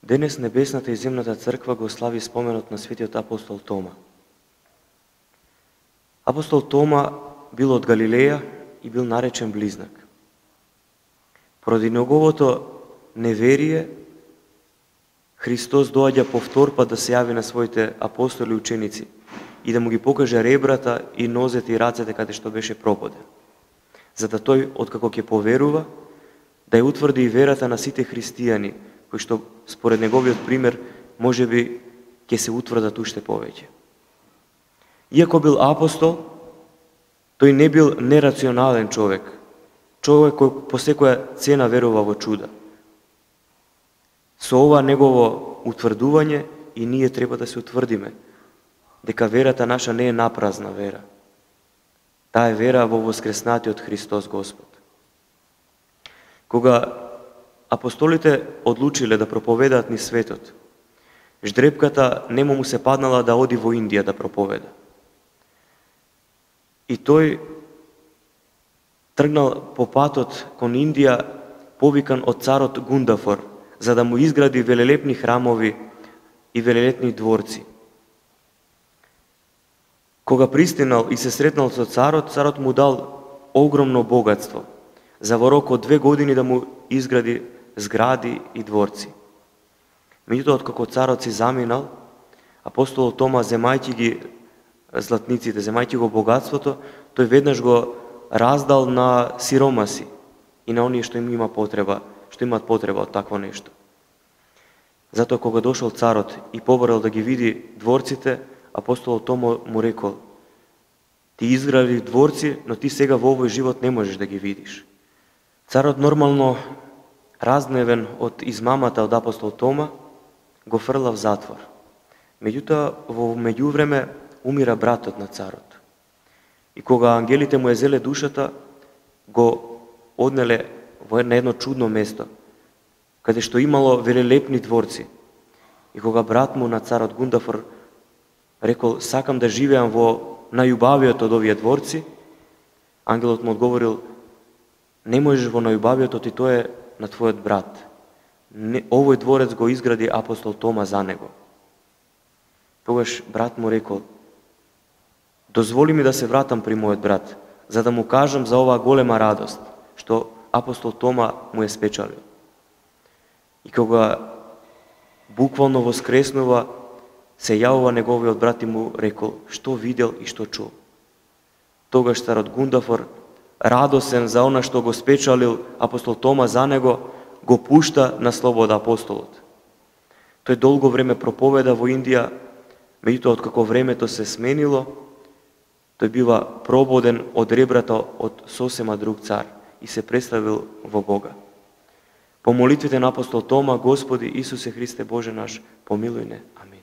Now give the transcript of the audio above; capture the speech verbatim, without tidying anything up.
Денес небесната и земната црква го слави споменот на светиот апостол Тома. Апостол Тома бил од Галилеја и бил наречен близнак. Поради неговото неверие, Христос доаѓа повтор пат да се јави на своите апостоли и ученици и да му ги покаже ребрата и нозете и рацете каде што беше прободен. За да тој, откако ќе поверува, да ја утврди и верата на сите христијани, кои што според неговиот пример можеби ќе се утврдат уште повеќе. Иако бил апостол, тој не бил нерационален човек, човек кој по секоја цена верува во чуда. Со ова негово утврдување и ние треба да се утврдиме дека верата наша не е напразна вера. Таа е вера во воскреснатиот Христос Господ. Кога апостолите одлучиле да проповедаат низ светот, ждрепката нему му се паднала да оди во Индија да проповеда. И тој тргнал по патот кон Индија, повикан од царот Гундафор, за да му изгради велелепни храмови и велелепни дворци. Кога пристигнал и се сретнал со царот, царот му дал огромно богатство, за во рок од две години да му изгради згради и дворци. Меѓутоа, откако царот си заминал, апостолот Тома, земајќи ги златниците, земајќи го богатството, тој веднаш го раздал на сиромаси и на оние што им има потреба, што имаат потреба од такво нешто. Затоа кога дошол царот и поборал да ги види дворците, апостолот Тома му рекол: ти изгради дворци, но ти сега во овој живот не можеш да ги видиш. Царот нормално, разневен од измамата од апостол Тома, го фрла в затвор. Меѓутоа, во меѓувреме умира братот на царот. И кога ангелите му ја зеле душата, го однеле во на едно чудно место, каде што имало велелепни дворци. И кога брат му на царот Гундафор рекол: сакам да живеам во најубавиот од овие дворци, ангелот му одговорил: не можеш во најубавиот, и тоа е на твојот брат. Не, овој дворец го изгради апостол Тома за него. Тогаш брат му рекол: дозволи ми да се вратам при мојот брат, за да му кажам за оваа голема радост, што апостол Тома му е спечалил. И кога буквално воскреснува, се јавува неговиот брат и му рекол што видел и што чул. Тогаш царот Гундафор, радосен за она што го спечалил апостол Тома за него, го пушта на слобода апостолот. Тој долго време проповеда во Индија, меѓутоа откако времето се сменило, тој бива прободен од ребрата од сосема друг цар и се представил во Бога. По молитвите на апостол Тома: Господи Исусе Христе Боже наш, помилуј не. Амин.